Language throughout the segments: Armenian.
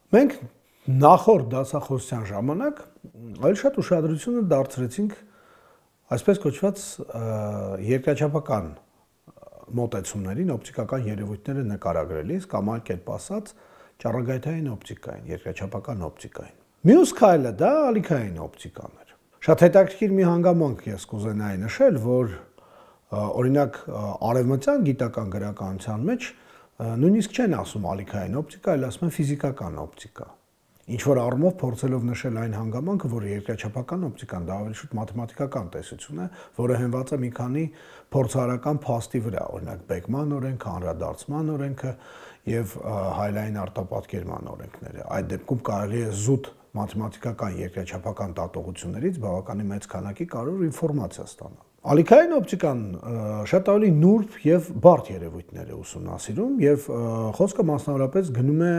Մենք նախորդ դասախոսության ժամանակ այլ շատ ուշադրությունը դարձրեցինք այսպես կոչված երկրաչափական մոտեցումներին, օպտիկական երևույթները նկարագրելիս կամ այլ կերպ ասած ճառագայթային օպտիկային, երկրաչափական օպտիկային։ Մյուս քայլը դա ալիքային օպտիկան էր։ Շատ հետաքրքիր մի հանգամանք ես կուզենայի նշել, որ օրինակ արևմտյան գիտական գրականության մեջ նույնիսկ չեն ասում ալիքային օպտիկա, այլ ասում են ֆիզիկական օպտիկա։ Ինչ որ առումով փորձելով նշել այն հանգամանքը, որ երկրաչափական օպտիկան դա ավելի շուտ մաթեմատիկական տեսություն է, որը հենված է մի քանի փորձարարական փաստի վրա, օրինակ Բեկման օրենքը, անդրադարձման օրենքը եւ հայլային արտապատկերման օրենքները։ Այդ դեպքում կարելի է զուտ մաթեմատիկական երկրաչափական դատողություններից բավականին մեծ քանակի կարևոր ինֆորմացիա ստանալ։ Ալիքային օպտիկան շատ ավելի նուրբ եւ բարդ երևույթներ է ուսումնասիրում եւ խոսքը մասնավորապես գնում է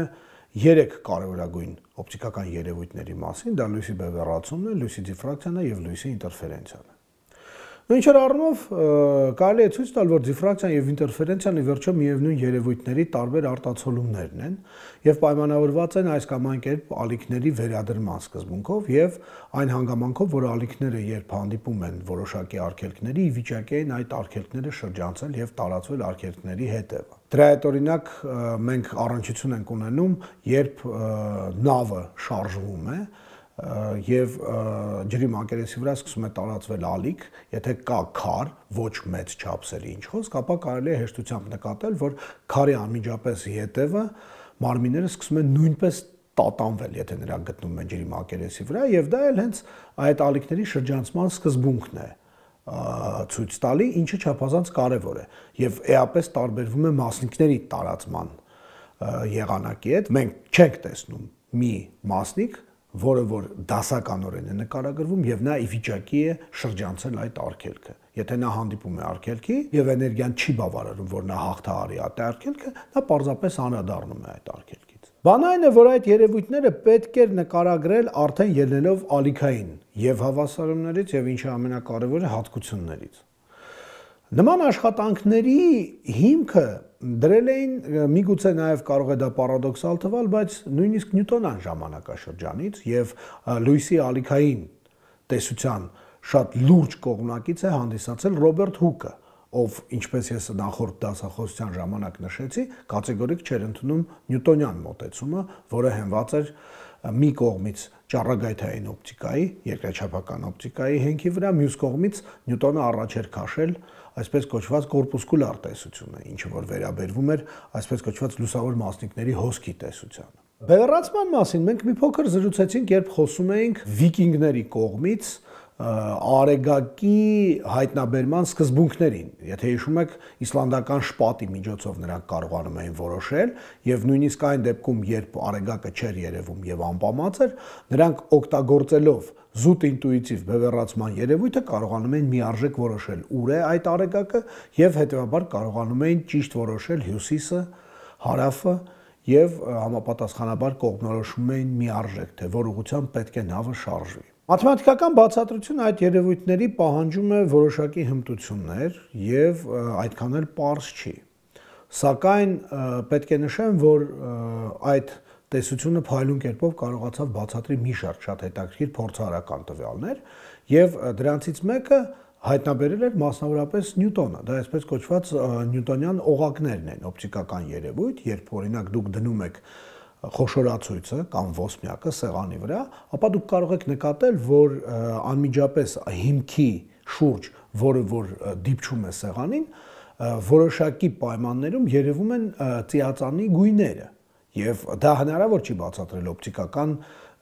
3 կարևորագույն օպտիկական երևույթների մասին, դա լույսի բևեռացումն է, լույսի դիֆրակցիան է եւ լույսի ինտերֆերենցիան է։ Ինչ որ առումով կարելի է ցույց տալ, որ դիֆրակցիան եւ ինտերֆերենցիան ի վերջո միևնույն երևույթների տարբեր արտացոլումներն են եւ պայմանավորված են այս կամ այն կերպ ալիքների վերադրման սկզբունքով եւ այն հանգամանքով, որ ալիքները երբ հանդիպում են որոշակի արգելքների, ի վիճակի են այդ արգելքները շրջանցել եւ տարածվել արգելքների հետևը։ Դրա հետ օրինակ մենք առնչություն ենք ունենում, երբ նավը շարժվում է եւ ջրի մակերեսի վրա սկսում է տարածվել ալիք, եթե կա քար, ոչ մեծ չափսերի ինչ խոսք, ապա կարելի է հեշտությամբ նկատել, որ քարի անմիջապես ետևը մարմինները սկսում են նույնպես տատանվել, եթե նրանք գտնվում են ջրի մակերեսի վրա, եւ դա էլ հենց այդ ալիքների շրջանցման սկզբունքն է ցույց տալի, ինչը չափազանց կարևոր է եւ էապես տարբերվում է մասնիկների տարածման եղանակի հետ։ Մենք չենք տեսնում մի մասնիկ, որը որ դասականորեն է նկարագրվում եւ նա ի վիճակի է շրջանցել այդ արգելքը։ Եթե նա հանդիպում է արգելքի եւ էներգիան չի բավարարում, որ նա հաղթահարի այդ արգելքը, նա պարզապես անդրադառնում է այդ արգելքից։ Բանը այն է, որ այդ երևույթները պետք է նկարագրել արդեն ելնելով ալիքային եւ հավասարումներից եւ ինչը ամենակարևորը հատկություններից։ Նման աշխատանքների հիմքը դրել էին, միգուցե նաև կարող է դա պարադոքսալ թվալ, բայց նույնիսկ նյուտոնյան ժամանակաշրջանից եւ լույսի ալիքային տեսության շատ լուրջ կողմնակից է հանդիսացել Ռոբերտ Հուկը, ով, ինչպես ես նախորդ դասախոսության ժամանակ նշեցի, կատեգորիկ չէր ընդունում նյուտոնյան մոտեցումը, որը հենված էր մի կողմից ճառագայթային օպտիկայի, երկրաչափական օպտիկայի հենքի վրա, մյուս կողմից նյուտոնը առաջ էր քաշել այսպես կոչված կորպուսկուլար տեսությունը, ինչը որ վերաբերվում էր այսպես կոչված լուսավոր մասնիկների հոսքի տեսությանը։ Բևեռացման մասին մենք մի փոքր զրուցեցինք, երբ խոսում էինք վիկինգների կողմից արեգակի հայտնաբերման սկզբունքներին։ Եթե հիշում եք, իսլանդական շպատի միջոցով նրանք կարողանում էին որոշել եւ նույնիսկ այն դեպքում, երբ արեգակը չէր երևում եւ անպամած էր, նրանք օգտագործելով զուտ ինտուիտիվ բևեռացման երևույթը կարողանում էին միարժեք որոշել ուր է այդ արեգակը եւ հետեւաբար կարողանում էին ճիշտ որոշել հյուսիսը, հարավը եւ համապատասխանաբար կողմնորոշում էին միարժեք, թե որ ուղղությամբ պետք է նավը շարժվի։ Մաթեմատիկական բացատրությունը այդ երևույթների պահանջում է որոշակի հմտություններ եւ այդքան էլ պարզ չի։ Սակայն պետք է նշեմ, որ այդ տեսությունը փայլուն կերպով կարողացավ բացատրի մի շարք շատ հետաքրքիր փորձարարական տվյալներ եւ դրանցից մեկը հայտնաբերել էր մասնավորապես Նյուտոնը։ Դա այսպես կոչված նյուտոնյան օղակներն են, օպտիկական երևույթ, երբ օրինակ դուք դնում եք խոշորացույցը կամ ոսպնյակը սեղանի վրա, ապա դուք կարող եք նկատել, որ անմիջապես հիմքի շուրջ, որը որ դիպչում է սեղանին, որոշակի պայմաններում երևում են ծիածանի գույները, եւ դա հնարավոր չի բացատրել օպտիկական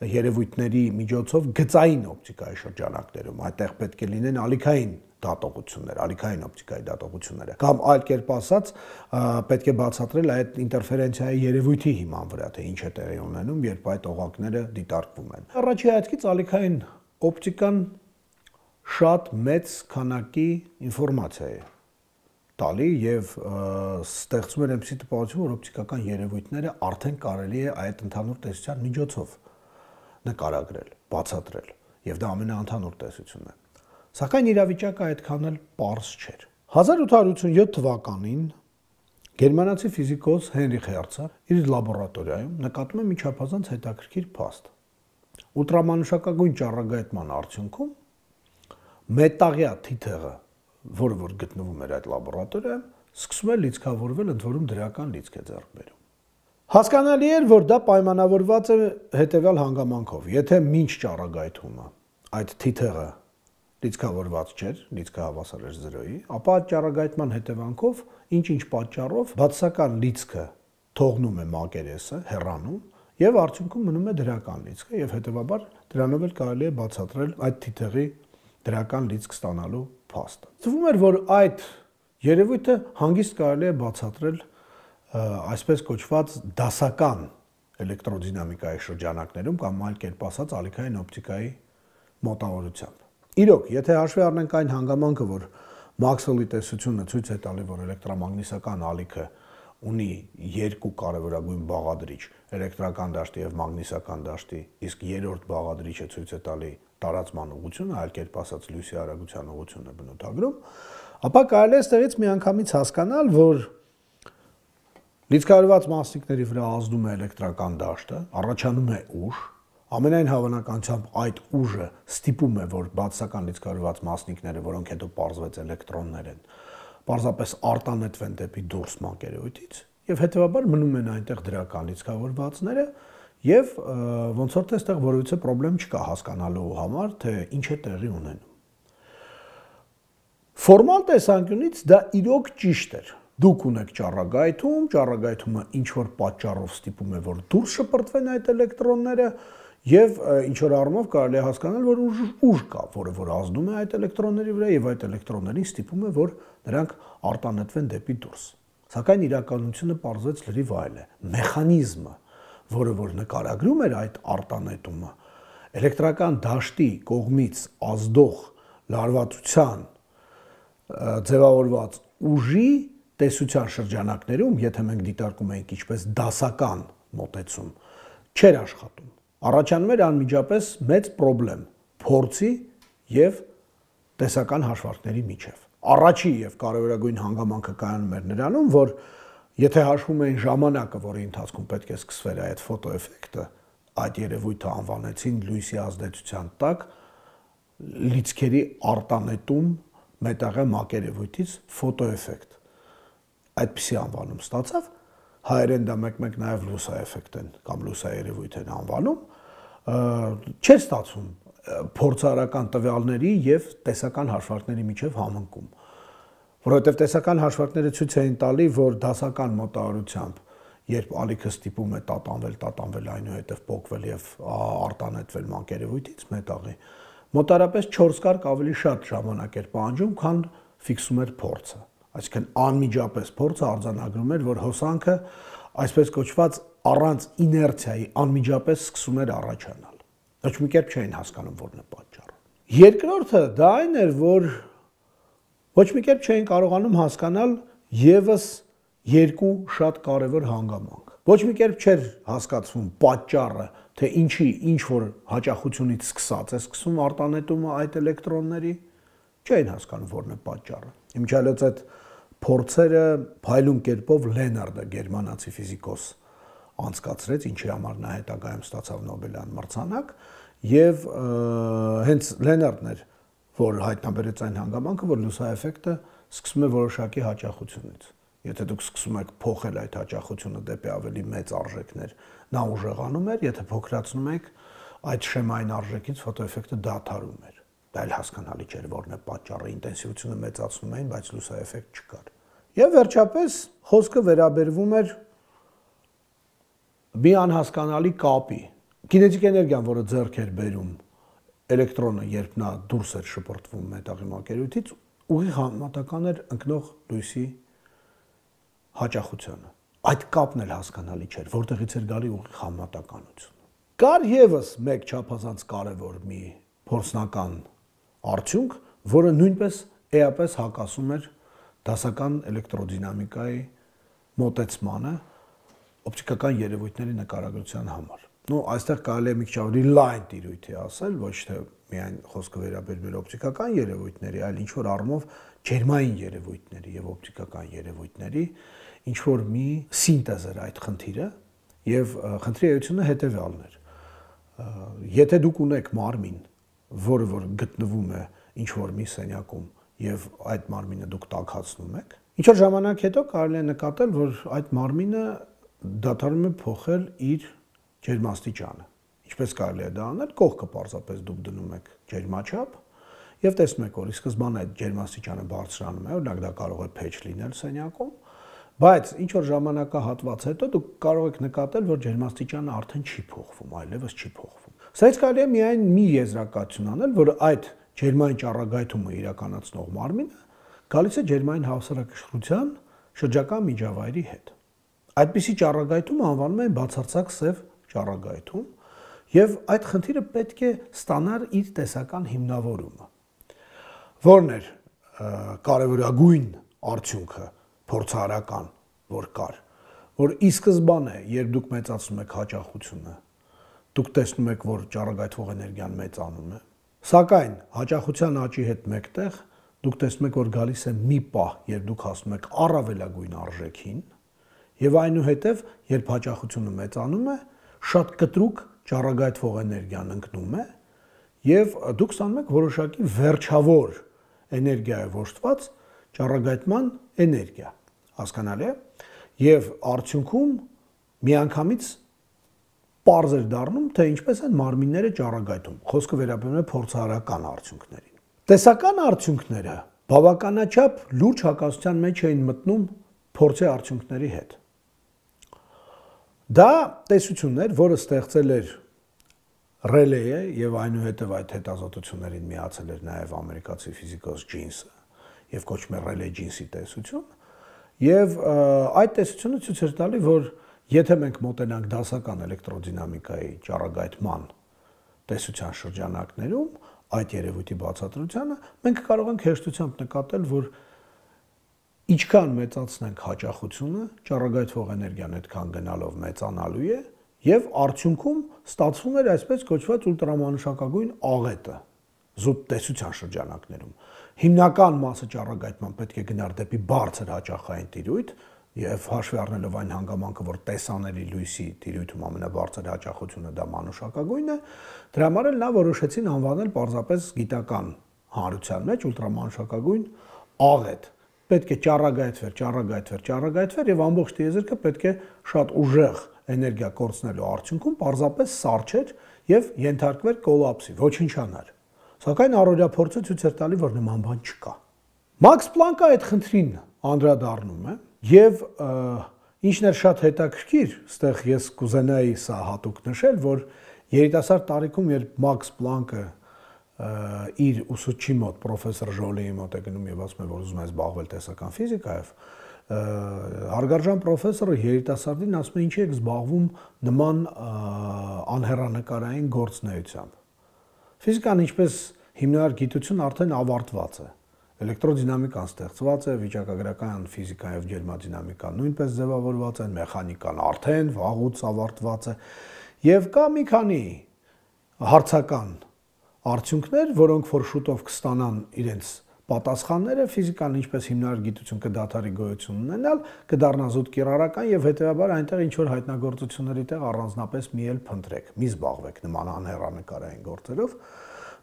երևույթների միջոցով գծային օպտիկայի շրջանակներում, այդտեղ պետք է լինեն ալիքային դատողություններ, ալիքային օպտիկայի դատողությունները, կամ այլ կերպ ասած, պետք է բացատրել այդ ինտերֆերենցիայի երևույթի հիման վրա, թե ինչ է տեղի ունենում, երբ այդ օղակները դիտարկվում են։ Առաջի հայացքից ալիքային օպտիկան շատ մեծ քանակի ինֆորմացիա է տալի եւ ստեղծում էր այնպիսի տպավորություն, որ օպտիկական երևույթները արդեն կարելի է այդ ընդհանուր տեսության միջոցով նկարագրել, բացատրել, եւ դա ամենաընդհանուր տեսությունն է։ Սակայն իրավիճակը այդքան էլ պարզ չէր։ 1887 թվականին Գերմանացի ֆիզիկոս Հենրիխ Հերցը իր լաբորատորիայում նկատում է մի չափազանց հետաքրքիր փաստ։ Ուլտրամանուշակագույն ճառագայթման արդյունքում մետաղյա թիթեղը, որը որ գտնվում էր այդ լաբորատորիայում, սկսում է լիցքավորվել, ընդ որում դրական լիցք է ձեռք բերում։ Հասկանալի էր, որ դա պայմանավորված է հետևյալ հանգամանքով. եթե մինչ ճառագայթումը այդ թիթեղը լիցքավորված չէր, լիցքը հավասար էր 0-ի, ապա այդ ճառագայթման հետևանքով ինչ-ինչ պատճառով բացասական լիցքը թողնում է մակերեսը, հեռանում, եւ արդյունքում մնում է դրական լիցքը, եւ հետեւաբար դրանով էլ կարելի է բացատրել այդ թիթեղի դրական լիցք ստանալու փաստը։ Թվում էր, որ այդ երևույթը հանգիստ կարելի է բացատրել այսպես կոչված դասական էլեկտրոդինամիկայի շրջանակներում կամ այլ կերպ ասած ալիքային օպտիկայի մոտավորությամբ։ Իրոք, եթե հաշվի առնենք այն հանգամանքը, որ Մաքսվելի տեսությունը ցույց է տալի, որ էլեկտրամագնիսական ալիքը ունի երկու կարևորագույն բաղադրիչ՝ էլեկտրական դաշտի եւ մագնիսական դաշտի, իսկ երրորդ բաղադրիչը ցույց է տալի տարածման ուղղությունը, այլ կերպ ասած լույսի արագության ուղղությունը բնութագրում, ապա կարելի է այստեղից միանգամից հասկանալ, որ լիցքավորված մասնիկների վրա ազդում է էլեկտրական դաշտը, առաջանում է ուժ, ամենայն հավանականությամբ այդ ուժը ստիպում է, որ բացասական լիցքավորված մասնիկները, որոնք հետո պարզվեց էլեկտրոններ են, պարզապես արտանետվեն դեպի դուրս մակերևույթից, եւ հետեւաբար մնում են այնտեղ դրական լիցքավորվածները, եւ ոնց որ թե այստեղ որևիցե խնդրեմ չկա հասկանալու համար, թե ինչ է տեղի ունենում։ Ֆորմալ տեսանկյունից դա իրոք ճիշտ էր։ Դուք ունեք ճառագայթումը ինչ-որ պատճառով ստիպում է, որ դուրս շպրտվեն այդ էլեկտրոնները եւ ինչ-որ առումով կարելի է հասկանալ, որ ուժ կա, որը որ ազդում է այդ էլեկտրոնների վրա եւ այդ էլեկտրոններին ստիպում է, որ նրանք արտանետվեն դեպի դուրս։ Սակայն իրականությունը պարզվեց լրիվ այլ է։ Մեխանիզմը, որը որ նկարագրում էր այդ արտանետումը, էլեկտրական դաշտի կողմից ազդող լարվածության ձևավորված ուժի տեսության շրջանակներում, եթե մենք դիտարկում ենք ինչպես դասական մոտեցում, չէր աշխատում։ Առաջանում էր անմիջապես մեծ խնդրեմ փորձի եւ տեսական հաշվարկների միջև։ Առաջի եւ կարևորագույն հանգամանքը կայանում էր նրանում, որ եթե հաշվում էին ժամանակը, որի ընթացքում պետք է սկսվեր այդ ֆոտոէֆեկտը, այդ երևույթը անվանեցին լույսի ազդեցության տակ լիցքերի արտանետում մետաղյա մակերևույթից ֆոտոէֆեկտ։ Այդպիսի անվանում ստացավ, հայերեն դա մեկ-մեկ նաև լուսաէֆեկտ են կամ լուսաերևույթ են անվանում, չէր ստացվում փորձարարական տվյալների եւ տեսական հաշվարկների միջև համընկում, որովհետեւ տեսական հաշվարկները ցույց էին տալի, որ դասական մոտավորությամբ, երբ ալիքը ստիպում է տատանվել այնուհետև փոկվել եւ արտանետվել մակերևույթից մետաղի, մոտարապես 4 կարգ ավելի շատ ժամանակ էր պահանջում, քան ֆիքսում էր փորձը։ Այսինքն անմիջապես փորձը արձանագրում էր, որ հոսանքը այսպես կոչված առանց իներցիայի անմիջապես սկսում էր առաջանալ։ Ոչ մի կերպ չէին հասկանում որն է պատճառը։ Երկրորդը դա այն էր, որ ոչ մի կերպ չէին կարողանում հասկանալ եւս երկու շատ կարևոր հանգամանք։ Ոչ մի կերպ չէր հասկացվում պատճառը, թե ինչի ինչ որ հաճախությունից սկսած է սկսում արտանետումը այդ էլեկտրոնների, չէին հասկանում որն է պատճառը։ Իմիջիալոց այդ փորձերը փայլուն կերպով Լենարդը, գերմանացի ֆիզիկոս, անցկացրեց, ինչի համար նա հետագայում ստացավ Նոբելյան մրցանակ, եւ հենց Լենարդն էր, որ հայտնաբերեց այն հանգամանքը, որ լուսաէֆեկտը սկսում է որոշակի հաճախությունից։ Եթե դուք սկսում եք փոխել այդ հաճախությունը դեպի ավելի մեծ արժեքներ, նա ուժեղանում էր, եթե փոքրացնում եք այդ շեմային արժեքից ֆոտոէֆեկտը դադարում էր։ Դա էլ հասկանալի չէր որն է պատճառը, ինտենսիվությունը մեծացնում էին, բայց լուսաէֆեկտ չկար։ Եվ վերջապես խոսքը վերաբերվում էր մի անհասկանալի կապի։ Կինետիկ էներգիան, որը ձեռք էր բերում էլեկտրոնը, երբ նա դուրս էր շպրտվում մետաղի մակերևույթից, ուղիղ համեմատական էր ընկնող լույսի հաճախությանը։ Այդ կապն էլ հասկանալի չէր, որտեղից էր գալի ուղիղ համեմատականությունը։ Կար եւս մեկ չափազանց կարևոր մի փորձնական արդյունք, որը նույնպես էապես հակասում էր դասական էլեկտրոդինամիկայի մոտեցմանը օպտիկական երևույթների նկարագրության համար։ Ну, այստեղ կարելի է մի քիչ ավելի լայն տիրույթի ասել, ոչ թե միայն խոսքը վերաբերում է օպտիկական երևույթների, այլ ինչ որ առումով ջերմային երևույթների եւ օպտիկական երևույթների ինչ որ մի սինտեզ էր այդ խնդիրը եւ խնդրի էությունը հետեւյալն էր եթե դուք ունեք մարմին որը որ գտնվում է ինչ որ մի սենյակում եւ այդ մարմինը դուք տաքացնում եք ինչ որ ժամանակ հետո կարելի է նկատել որ այդ մարմինը դադարում է փոխել իր ջերմաստիճանը ինչպես կարելի է դա անել կողքը պարզապես դուք դնում եք ջերմաչափ եւ տեսնում եք որ ի սկզբանե այդ ջերմաստիճանը բարձրանում է օրինակ դա կարող է փեչ լինել սենյակում բայց ինչ որ ժամանակահատված հետո դուք կարող եք նկատել որ ջերմաստիճանը արդեն չի փոխվում այլևս չի փոխվում սրանից կարելի է միայն մի եզրակացություն անել որ այդ ջերմային ճառագայթումը իրականացնող մարմինը գալիս է ջերմային հավասարակշռության շրջակա միջավայրի հետ այդպիսի ճառագայթումը անվանում են բացարձակ սև ճառագայթում եւ այդ խնդիրը պետք է ստանար իր տեսական հիմնավորումը որն էր կարևորագույն արդյունքը փորձարարական որ կար որ ի սկզբանե երբ դուք մեծացնում եք հաճախությունը դուք տեսնում եք որ ճառագայթվող էներգիան մեծանում է սակայն հաճախության աճի հետ մեկտեղ դուք տեսնում եք որ գալիս է մի պահ երբ դուք հասնում եք առավելագույն արժեքին եւ այնուհետեւ երբ հաճախությունը մեծանում է շատ կտրուկ ճառագայթվող էներգիան ընկնում է եւ դուք ստանում եք որոշակի վերջավոր էներգիայով ոշտված ճառագայթման էներգիա հասկանալի է եւ արդյունքում միանգամից պարզ էր դառնում թե ինչպես են մարմինները ճառագայթում խոսքը վերաբերում է փորձարարական արդյունքներին տեսական արդյունքները բավականաչափ լուրջ հակասության մեջ էին մտնում փորձի արդյունքների հետ դա տեսությունն էր որը ստեղծել էր Ռելեյը եւ այնուհետեւ այդ հետազոտություններին միացել էր նաեւ ամերիկացի ֆիզիկոս Ջինսը եւ կոչվում է Ռելեյ Ջինսի տեսություն եւ այդ տեսությունը ցույց էր տալի որ եթե մենք մոտենանք դասական էլեկտրոդինամիկայի ճառագայթման տեսության շրջանակներում այդ երևույթի բացատրությանը մենք կարող ենք հեշտությամբ նկատել որ ինչքան մեծացնենք հաճախությունը ճառագայթվող էներգիան այդքան գնալով մեծանալու է եւ արդյունքում ստացվում էր այսպես կոչված ուլտրամանուշակագույն աղետը զուտ տեսության շրջանակներում հիմնական մասը ճառագայթման պետք է գնար դեպի բարձր հաճախային տիրույթ եւ հաշվի առնելով այն հանգամանքը որ տեսանելի լույսի տիրույթում ամենաբարձր հաճախությունը դա մանուշակագույնն է դրա համար էլ նա որոշեցին անվանել պարզապես գիտական հանրության մեջ ուլտրամանուշակագույն աղետ պետք է ճառագայթվեր եւ ամբողջ տիեզերքը պետք է շատ ուժեղ էներգիա կորցնելու արդյունքում պարզապես սառչեր եւ ենթարկվեր կոլապսի ոչնչանար սակայն առօրյա փորձը ցույց էր տալի որ նման բան չկա Մաքս Պլանկը այդ խնդրին անդրադառնում է եւ ինչն էր շատ հետաքրքիր այստեղ ես կուզենայի սա հատուկ նշել որ երիտասարդ տարիքում երբ Մաքս Պլանկը իր ուսուցչի մոտ պրոֆեսոր Ժոլիի մոտ է գնում եւ ասում է որ ուզում է զբաղվել տեսական ֆիզիկայով հարգարժան պրոֆեսորը երիտասարդին ասում է ինչի եք զբաղվում նման անհեռանկարային գործունեությամբ ֆիզիկան ինչպես հիմնարար գիտություն արդեն ավարտված է էլեկտրոդինամիկան ստեղծված է վիճակագրական ֆիզիկան եւ ջերմադինամիկան նույնպես ձևավորված են մեխանիկան արդեն վաղուց ավարտված է եւ կա մի քանի հարցական արդյունքներ, որոնք որ շուտով կստանան իրենց պատասխանները, ֆիզիկան ինչպես հիմնարար գիտություն կդադարի գոյություն ունենալ, կդառնա զուտ կիրառական եւ հետեւաբար այնտեղ ինչ որ հայտնագործությունների տեղ առանձնապես մի էլ փնտրեք, մի զբաղվեք նման անհեռանկարային գործերով։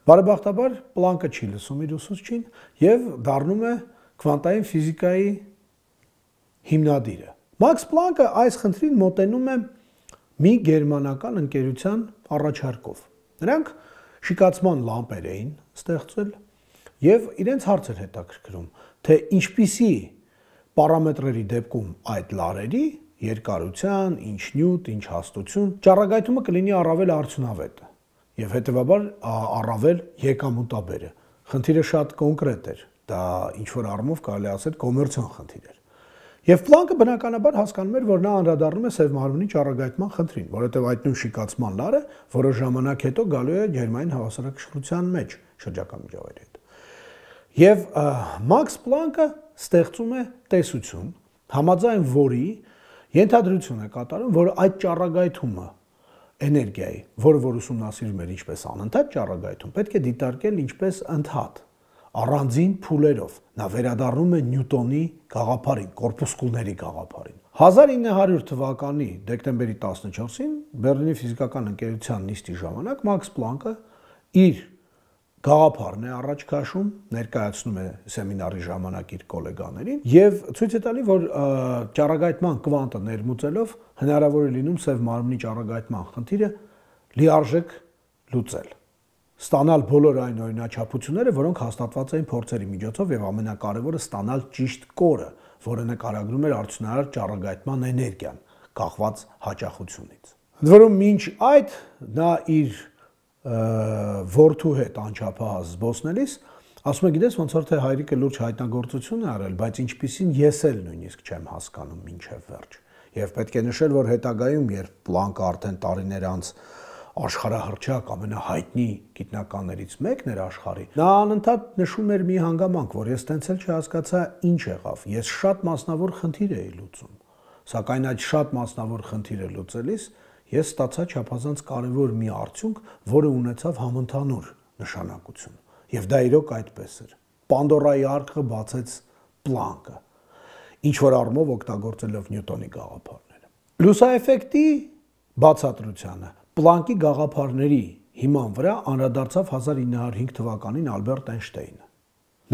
Բարեբախտաբար Պլանկը չի լսում իր ուսուցչին եւ դառնում է քվանտային ֆիզիկայի հիմնադիրը։ Մաքս Պլանկը այս խնդրին մոտենում է մի գերմանական ընկերության առաջարկով։ Նրանք շիկացման լամպեր էին ստեղծել եւ իրենց հարց էր հետաքրքրում, թե ինչպիսի պարամետրերի դեպքում այդ լարերի երկարության, ինչ նյութ, ինչ հաստություն, ճառագայթումը կլինի առավել արդյունավետ եւ հետեւաբար առավել եկամուտաբեր է։ Խնդիրը շատ կոնկրետ էր, դա ինչ որ առումով կարելի ասել կոմերցիոն խնդիր էր։ Եվ Պլանկը բնականաբար հասկանում էր, որ նա անդրադառնում է սև մարմնի ճառագայթման խնդրին, որովհետև այդ նույն շիկացման լարը որոշ ժամանակ հետո գալու է ջերմային հավասարակշռության մեջ շրջակա միջավայրի հետ։ Եվ Մաքս Պլանկը ստեղծում է տեսություն, համաձայն որի ենթադրություն է կատարում, որ այդ ճառագայթումը էներգիայի, որը որ ուսումնասիրում էր ինչպես անընդհատ ճառագայթում, պետք է դիտարկել ինչպես ընդհատ։ առանձին փուլերով։ Նա վերադառնում է Նյուտոնի գաղափարին, կորպուսկուլների գաղափարին։ 1900 թվականի դեկտեմբերի 14-ին Բեռլինի ֆիզիկական ընկերության նիստի ժամանակ Մաքս Պլանկը իր գաղափարն է առաջ քաշում, ներկայացնում է սեմինարի ժամանակ իր գոլեգաներին եւ ցույց է տալի, որ ճառագայթման կվանտը ներմուծելով հնարավոր է լինում սև մարմնի ճառագայթման խնդիրը լիարժեք լուծել։ Ստանալ բոլոր այն օրինաչափությունները, որոնք հաստատված էին փորձերի միջոցով եւ ամենակարևորը ստանալ ճիշտ կորը, որը նկարագրում էր արդյունավետ ճառագայթման էներգիան, կախված հաճախությունից։ Ընդ որում մինչ այդ նա իր որդու հետ անչափահաս զբոսնելիս ասում է, գիտես, ոնց որ թե հայրիկը լուրջ հայտնագործություն է արել, բայց ինչպիսին ես էլ նույնիսկ չեմ հասկանում մինչև վերջ։ Եվ պետք է նշել, որ հետագայում, երբ Պլանկը արդեն տարիներ անց աշխարհահռչակ ամենահայտնի գիտնականներից մեկն էր աշխարհի, նա անընդհատ նշում էր մի հանգամանք, որ ես տենց էլ չհասկացա ինչ եղավ։ Ես շատ մասնավոր խնդիր էի լուծում, սակայն այդ շատ մասնավոր խնդիրը լուծելիս ես ստացա չափազանց կարևոր մի արդյունք, որը ունեցավ համընդհանուր նշանակություն։ Եվ դա իրոք այդպես էր։ Պանդորայի արքը բացեց Պլանկը, ինչ որ առումով օգտագործելով Նյուտոնի գաղափարները։ Լուսաեֆեկտի բացատրությանը Պլանկի գաղափարների հիման վրա անդրադարձավ 1905 թվականին Ալբերտ Էյնշտեյնը։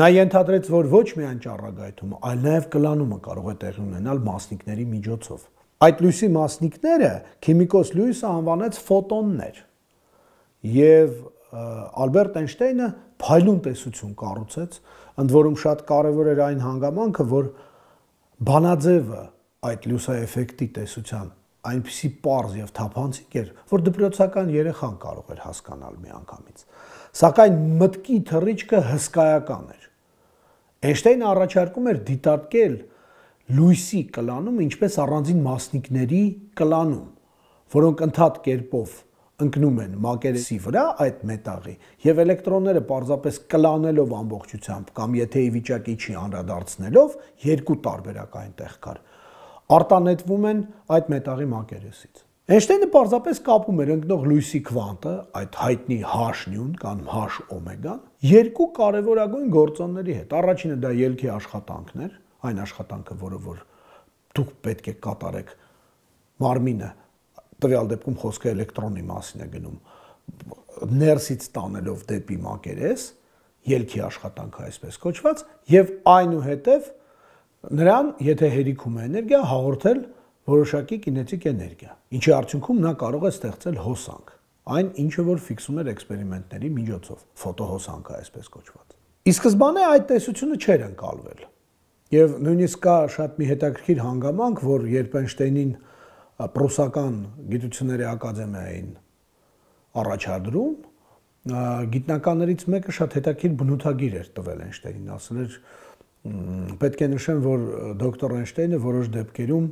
Նա ենթադրեց, որ ոչ միայն ճառագայթումը, այլ նաև կլանումը կարող է տեղի ունենալ մասնիկների միջոցով։ Այդ լույսի մասնիկները քիմիկոս Լյուիսը անվանեց ֆոտոններ։ Եվ Ալբերտ Էյնշտեյնը փայլուն տեսություն կառուցեց, ընդ որում շատ կարևոր էր այն հանգամանքը, որ բանաձևը այդ լուսաեֆեկտի տեսության այնպիսի պարզ եւ թափանցիկ էր, որ դպրոցական երեխան կարող էր հասկանալ միանգամից։ Սակայն մտքի թռիչքը հսկայական էր։ Էյնշտեյնը առաջարկում էր դիտարկել լույսի կլանում ինչպես առանձին մասնիկների կլանում, որոնք ընդհատ կերպով ընկնում են մակերեսի վրա այդ մետաղի եւ էլեկտրոնները պարզապես կլանելով ամբողջությամբ կամ եթե ի վիճակի չի անդրադարձնելով երկու տարբերակ այնտեղ կար արտանետվում են այդ մետաղի մակերեսից։ Էյնշտեյնը պարզապես կապում էր ընկնող լույսի քվանտը, այդ հայտնի H-նյուն կամ H-օմեգան, երկու կարևորագույն գործոնների հետ։ Առաջինը դա ելքի աշխատանքն էր, այն աշխատանքը, որը որ դուք պետք է կատարեք մարմինը, տվյալ դեպքում խոսքը էլեկտրոնի մասին է գնում, ներսից տանելով դեպի մակերես, ելքի աշխատանքը այսպես կոչված, եւ այնուհետեւ նրան, եթե հերիքում է էներգիա, հաղորդել որոշակի կինետիկ էներգիա, ինչի արդյունքում նա կարող է ստեղծել հոսանք, այն ինչը որ ֆիքսում էր էքսպերիմենտների միջոցով, ֆոտոհոսանքը այսպես կոչված։ Ի սկզբանե այդ տեսությունը չէր ընկալվել։ Եվ նույնիսկ կա շատ մի հետաքրքիր հանգամանք, որ երբ Էյնշտեյնին Պրուսական գիտությունների ակադեմիային առաջադրում, գիտնականներից մեկը շատ հետաքրքիր բնութագիր էր տվել Էյնշտեյնին, ասել էր պետք է նշեմ, որ դոկտոր Էյնշտեյնը որոշ դեպքերում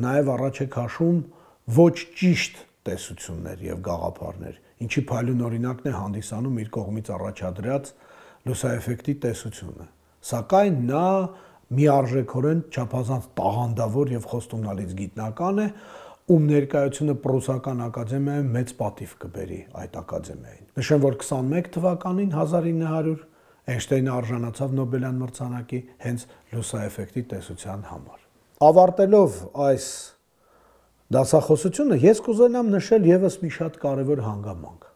նաև առաջ է քաշում ոչ ճիշտ տեսություններ եւ գաղափարներ, ինչի փայլուն օրինակն է հանդիսանում իր կողմից առաջադրած լուսաեֆեկտի տեսությունը։ Սակայն նա միարժեքորեն չափազանց տաղանդավոր եւ խոստումնալից գիտնական է, ում ներկայությունը Պրուսական ակադեմիայում մեծ պատիվ կբերի այդ ակադեմիային։ Նշեմ, որ 21 թվականին 1900 Էյնշտեյնը արժանացավ Նոբելյան մրցանակի հենց լուսաեֆեկտի տեսության համար։ Ավարտելով այս դասախոսությունը, ես կուզենամ նշել եւս մի շատ կարևոր հանգամանք։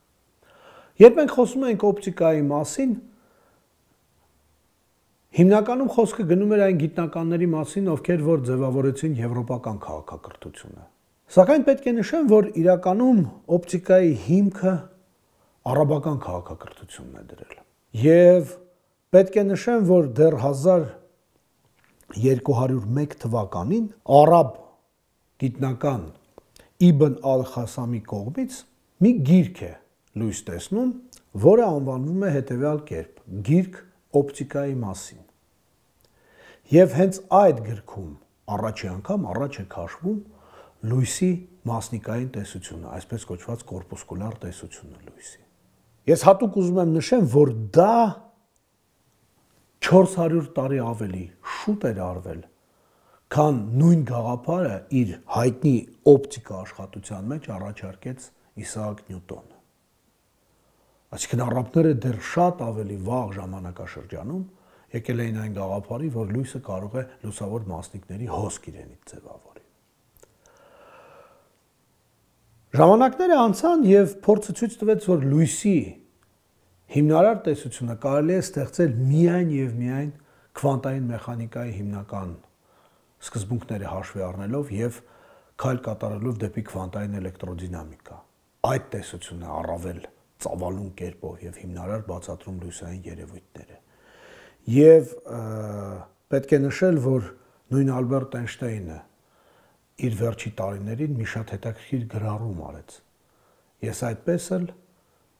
Երբ մենք խոսում ենք օպտիկայի մասին, հիմնականում խոսքը գնում էր այն գիտնականների մասին, ովքեր որ ձևավորեցին եվրոպական քաղաքակրթությունը։ Սակայն պետք է նշեմ, որ իրականում օպտիկայի հիմքը արաբական քաղաքակրթությունն է դրել։ Եվ պետք է նշեմ, որ դեռ 1201 թվականին արաբ գիտնական Իբն ալ-Խասամի կողմից մի գիրք է լույս տեսնում, որը անվանվում է հետևյալ կերպ՝ Գիրք օպտիկայի մասին։ Եվ հենց այդ գրքում առաջի անգամ առաջ է քաշվում լույսի մասնիկային տեսությունը, այսպես կոչված կորպուսկուլար տեսությունը լույսի։ Ես հատուկ ուզում եմ նշեմ, որ դա 400 տարի ավելի շուտ էր արվել, քան նույն գաղափարը իր հայտնի օպտիկա աշխատության մեջ առաջարկեց Իսաակ Նյուտոնը։ Այսինքն առափները դեռ շատ ավելի վաղ ժամանակաշրջանում եկել էին այն գաղափարի, որ լույսը կարող է լուսավոր մասնիկների հոսք իրենից ձևավորի։ Ժամանակները անցան եւ փորձը ցույց տվեց, որ լույսի հիմնարար տեսությունը կարելի է ստեղծել միայն եւ միայն քվանտային մեխանիկայի հիմնական սկզբունքները հաշվի առնելով եւ քայլ կատարելով դեպի քվանտային էլեկտրոդինամիկա։ Այդ տեսությունը առավել ծավալուն կերպով եւ հիմնարար բացատրում լույսային երևույթները։ Եվ պետք է նշել, որ նույն Ալբերտ Էյնշտեյնը իր վերջի տարիներին մի շատ հետաքրքիր գրառում արեց։ Ես այդպես էլ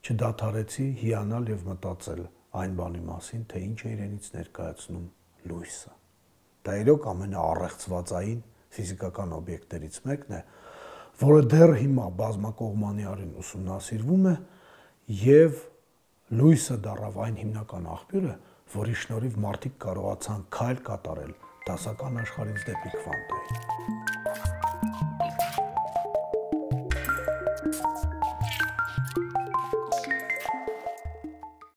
չդադարեցի հիանալ եւ մտածել այն բանի մասին, թե ինչ է իրենից ներկայացնում լույսը։ Դա իրոք ամենաառեղծվածային ֆիզիկական օբյեկտներից մեկն է, որը դեռ հիմա բազմակողմանիորեն ուսումնասիրվում է եւ լույսը դառավ այն հիմնական աղբյուրը, որի շնորհիվ մարդիկ կարողացան քայլ կատարել դասական աշխարհից դեպի քվանտային։